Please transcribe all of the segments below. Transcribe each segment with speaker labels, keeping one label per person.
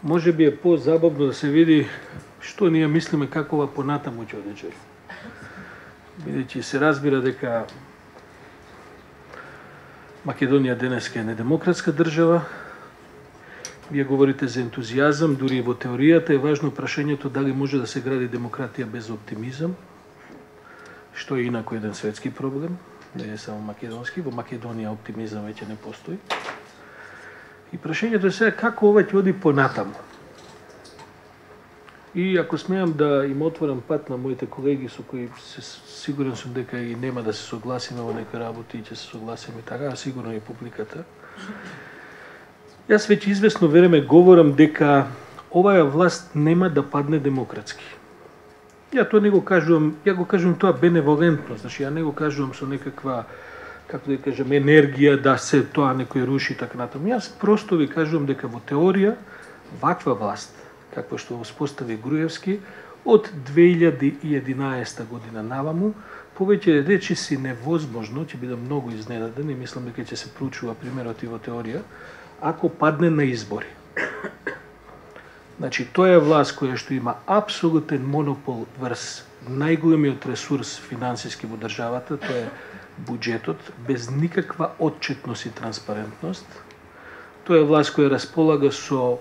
Speaker 1: може би е по-забавно да се види што ние мислиме како ова понатаму ќе одече. Бидејќи се разбира дека Македонија денеска е недемократска држава. Вие говорите за ентузијазам, дури и во теоријата е важно прашањето дали може да се гради демократија без оптимизам, што е инако еден светски проблем, не е само македонски, во Македонија оптимизам веќе не постои. И прашањето е сега како ова ќе оди понатаму. И ако смеам да им отворам пат на моите колеги со кои сигурен сум дека и нема да се согласиме во некои работи и ќе се согласиме така, а сигурно и публиката. Јас веќе известно време говорам дека оваа власт нема да падне демократски. Ја тоа не го кажувам, ја го кажувам тоа беневолентно, значи ја не го кажувам со некаква, како да кажам, енергија да се тоа некој руши така натаму. Јас просто ви кажувам дека во теорија ваква власт, каква што успостави Груевски, од 2011 година наваму, повеќе речиси невозможно, ќе бидам многу изненаден и мислам дека ќе се проучува примерот и во теорија, ако падне на избори. Значи, тоа е власт која што има апсолутен монопол врз најголемиот ресурс финансиски во државата, тоа е буџетот, без никаква отчетност и транспарентност. Тоа е власт која располага со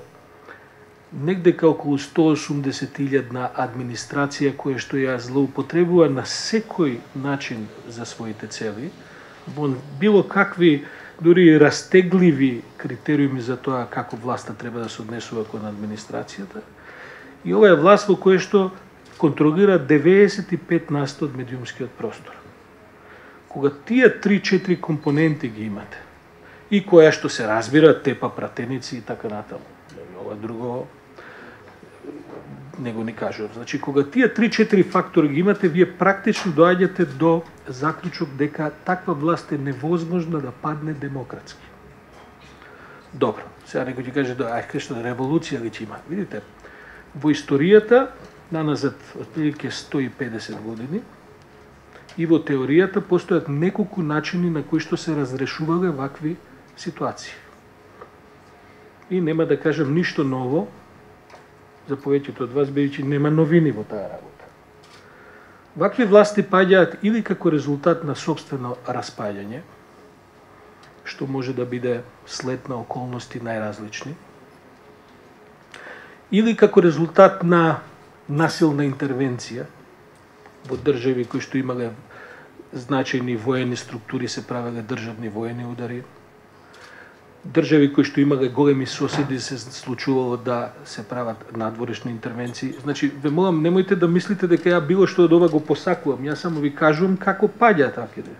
Speaker 1: негдека околу 180.000 администрација која што ја злоупотребува на секој начин за своите цели, во било какви дури растегливи критериуми за тоа како власта треба да се однесува кон администрацијата. И ова е власт во која што контролира 95% од медиумскиот простор. Кога тие 3-4 компоненти ги имате, и која што се разбира, тепа пратеници и така натаму, ова друго не го ни кажувам. Значи, кога тие 3-4 фактори ги имате, вие практично доаѓате до заклучок дека таква власт е невозможна да падне демократски. Добро, сега некој ќе каже, ајде што револуција ли ќе има. Видите, во историјата, наназад отприлike 150 години, и во теоријата постојат неколку начини на кои што се разрешувале вакви ситуации. И нема да кажам ништо ново за повеќето од вас, бидејќи нема новини во таа работа. Вакви власти паѓаат или како резултат на сопствено распаѓање, што може да биде след на околности најразлични, или како резултат на насилна интервенција во држави кои што имале значајни воени структури, се правеле државни воени удари, држави кои што имале големи соседи се случувало да се прават надворешни интервенции. Значи, ве молам, немојте да мислите дека ја било што од ова го посакувам, јас само ви кажувам како паѓа такива.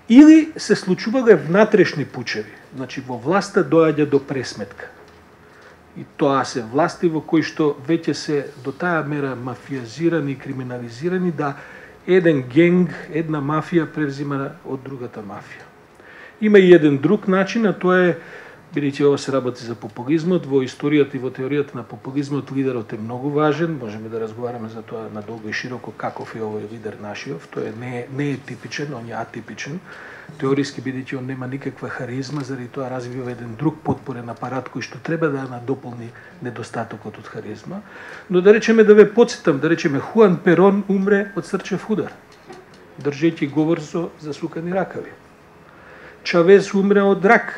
Speaker 1: Или се случувале внатрешни пучеви, значи во власта доаѓа до пресметка. И тоа се власти во кои што веќе се до таа мера мафијазирани и криминализирани да еден генг, една мафија превзима од другата мафија. Има и еден друг начин, а тоа е, бидејќи ова се работи за популизмот, во историјата и во теоријата на популизмот лидерот е многу важен, можеме да разговараме за тоа надолго и широко каков е овој лидер нашиот, тој не е типичен, он е атипичен, теориски бидејќи он нема никаква харизма, заради тоа развива еден друг потпорен апарат кој што треба да надополни недостатокот од харизма. Но да речеме, да ве потсетам, да речеме, Хуан Перон умре од срчев удар, држејќи говор со засукани ракави. Чавез умре од рак.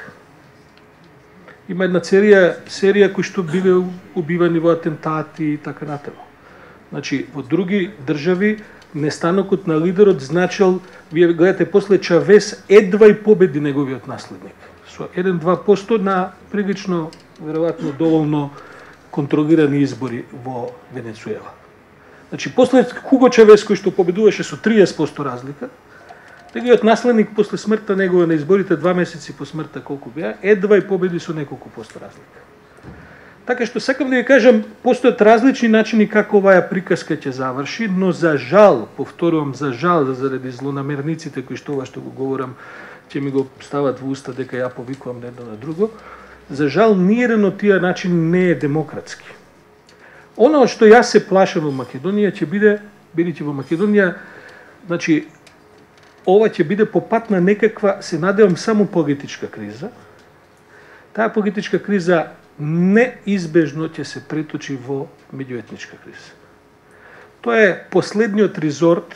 Speaker 1: Има една серија кои што биле убивани во атентати и така натаму. Значи, во други држави нестанокот на лидерот значел, вие гледате после Чавез едва и победи неговиот наследник. Со 1-2% на прилично, веројатно доволно контролирани избори во Венецуела. Значи, после Хуго Чавез кој што победуваше со 30% разлика, неговиот наследник после смртта негова на изборите 2 месеци по смртта колку беа, едва и победи со неколку посто разлика. Така што сакам да ви кажам, постојат различни начини како оваа приказка ќе заврши, но за жал, повторувам, за жал, заради злонамерниците кои што ова што го говорам, ќе ми го стават во уста дека ја повикувам едно на друго, за жал ниеден од тие начин не е демократски. Оно што јас се плашам во Македонија ќе биде, бидејќи во Македонија, значи, ова ќе биде по пат на некаква, се надевам, само политичка криза. Таа политичка криза неизбежно ќе се преточи во меѓуетничка криза. Тоа е последниот резорт,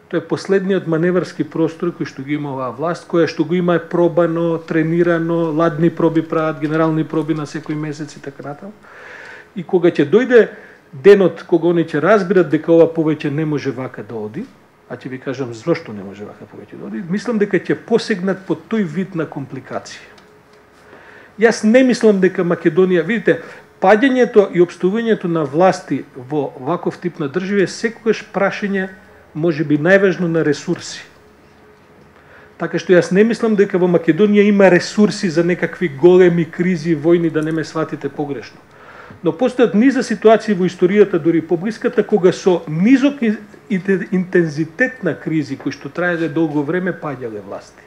Speaker 1: тоа е последниот маневарски простор кој што ги има оваа власт, која што го има пробано, тренирано, ладни проби прават, генерални проби на секој месец и така натаму. И кога ќе дојде денот кога они ќе разберат дека ова повеќе не може вака да оди, а ќе ви кажам зошто не може вака повеќе да оди, мислам дека ќе посегнат по тој вид на компликација. Јас не мислам дека Македонија, видите, паѓањето и опстувањето на власти во ваков тип на држави е секогаш прашање, може би најважно, на ресурси. Така што јас не мислам дека во Македонија има ресурси за некакви големи кризи, војни, да не ме сватите погрешно. Но постојат низа ситуации во историјата, дури поблиската, кога со низок интензитет на кризи кои што траеле долго време паѓале власти.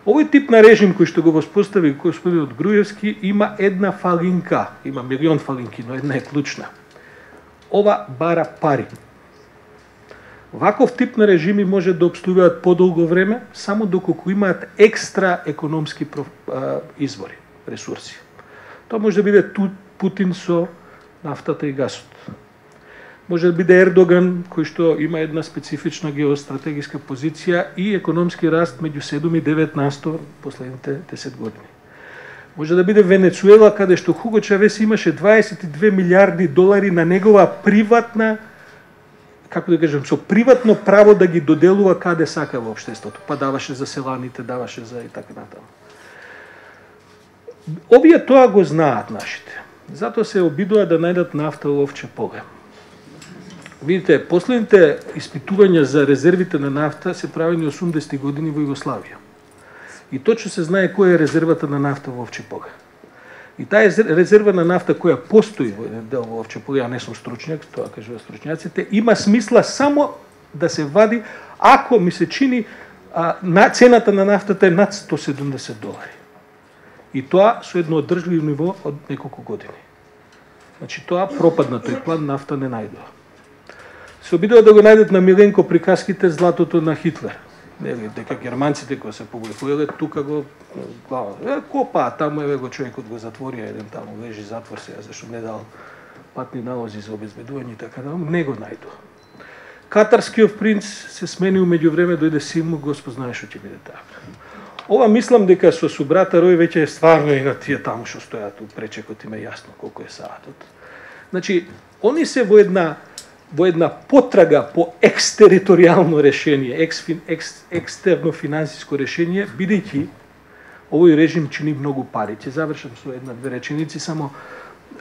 Speaker 1: Овој тип на режим кој што го воспостави господинот Груевски има една фалинка, има милион фалинки, но една е клучна. Ова бара пари. Ваков тип на режими може да обстојуваат подолго време, само доколку имаат екстра економски извори, ресурси. Тоа може да биде Путин со нафтата и гасот. Може да биде Ердоган, кој што има една специфична геостратегиска позиција и економски раст меѓу 7 и 9% последните 10 години. Може да биде Венецуела, каде што Хуго Чавес имаше 22 милиарди долари на негова приватна, како да кажем, со приватно право да ги доделува каде сака во општеството. Па даваше за селаните, даваше за и така натаму. Овие тоа го знаат нашите. Затоа се обидува да најдат нафта во овче поле. Видите, последните испитувања за резервите на нафта се правени 80-ти години во Југославија. И точно се знае која е резервата на нафта во овче поле. И таа резерва на нафта која постои во еден дел во овче поле, ја не сум стручњак, тоа кажуваат стручњаците, има смисла само да се вади ако ми се чини цената на нафтата е над $170. И тоа со едно одржливо ниво од неколку години. Значи тоа пропадна, тој план нафта не најдува. Се обидува да го најдат на Миленко приказките златото на Хитлер. Нели, дека германците кои се публикувале, тука го глава. Копа, таму еве го човекот го затворија, еден таму лежи затвор сега, зашто не дал патни налози за обезбедување и така натаму, не го најдува. Катарскиот принц се сменил меѓувреме, дојде Симу, Господ знае што ќе биде така. Ова мислам дека со субрата Рој веќе е стварно и на тие таму што стојат у пречекот, има јасно колку е саатот. Значи, они се во една потрага по екстериторијално решение, екстерно финансиско решение, бидејќи овој режим чини многу пари. Ќе завршам со една-две реченици само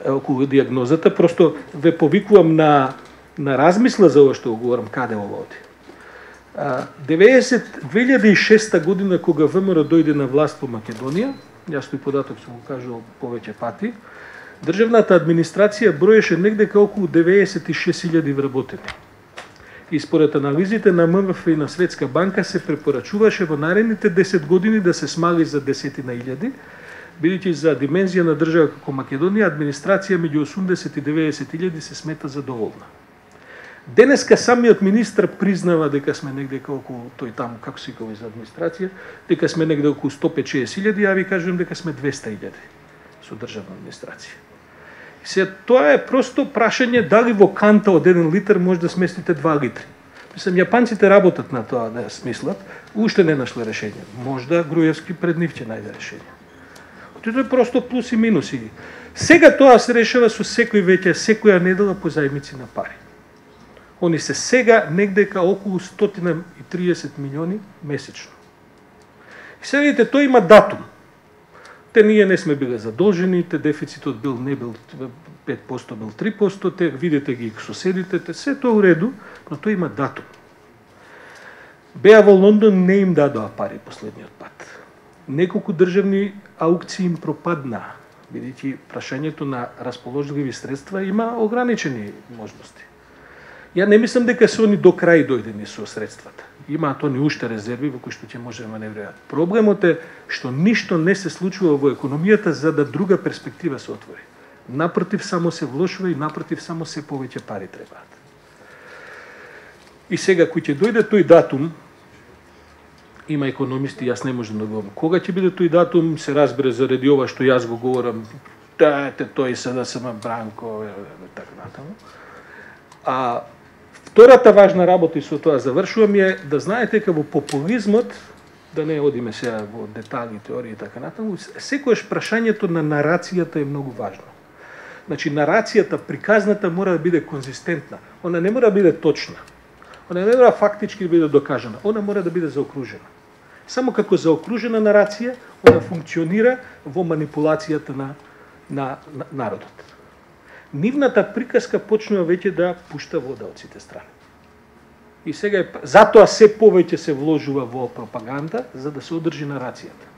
Speaker 1: околу диагнозата, просто ве повикувам на размисла за ова што го говорам, каде ова оди. 2006 година кога ВМРО дојде на власт во Македонија, јас тој податок сум го кажал повеќе пати, државната администрација броеше негде околу 96.000 вработени. И според анализите на МВФ и на Светска банка се препорачуваше во наредните 10 години да се смали за 10.000, бидејќи за димензија на држава како Македонија администрација меѓу 80 и 90.000 се смета задоволна. Денеска самиот министр признава дека сме негде околу тој таму, како се вика за администрација, дека сме негде околу 150.000, ја ви кажувам дека сме 200.000 со државна администрација. И се тоа е просто прашање дали во канта од 1 литар може да сместите 2 литри. Мислам, јапанците работат на тоа да смислат, уште не нашле решение. Можда Груевски пред нив ќе најде решение. Тоа е просто плюс и минуси. Сега тоа се решава со секоја недела по зајмици на пари. Они се сега негдека околу 130 милиони месечно. И сега видите, тој има датум. Ние не сме биле задолжени, дефицитот не бил 5%, бил 3%, видите ги соседите, се тоа уреду, но тој има датум. Беа во Лондон, не им дадоа пари последниот пат. Неколку државни аукции им пропаднаа, бидејќи прашањето на расположливи средства има ограничени можности. Ја не мислам дека се они до крај дојдени со средствата. Имаат они уште резерви во кои што ќе може да маневрираат. Проблемот е што ништо не се случува во економијата за да друга перспектива се отвори. Напротив, само се влошува и напротив, само се повеќе пари требаат. И сега, кој ќе дојде тој датум, има економисти, јас не можам да говорам. Кога ќе биде тој датум, се разбере заради ова што јас го говорам, тој СДСМ Бранко, така натаму. А втората важна работа, и со тоа завршувам, е да знаете дека во популизмот, да не одиме сега во детали, теории и така натаму, секојаш прашањето на нарацијата е многу важно. Значи, нарацијата, приказната мора да биде конзистентна. Она не мора да биде точна. Она не мора фактички да биде докажана. Она мора да биде заокружена. Само како заокружена нарација, она функционира во манипулацијата на народот. Нивната приказка почнува веќе да пушта вода од сите страни. И сега затоа се повеќе се вложува во пропаганда, за да се одржи нарацијата.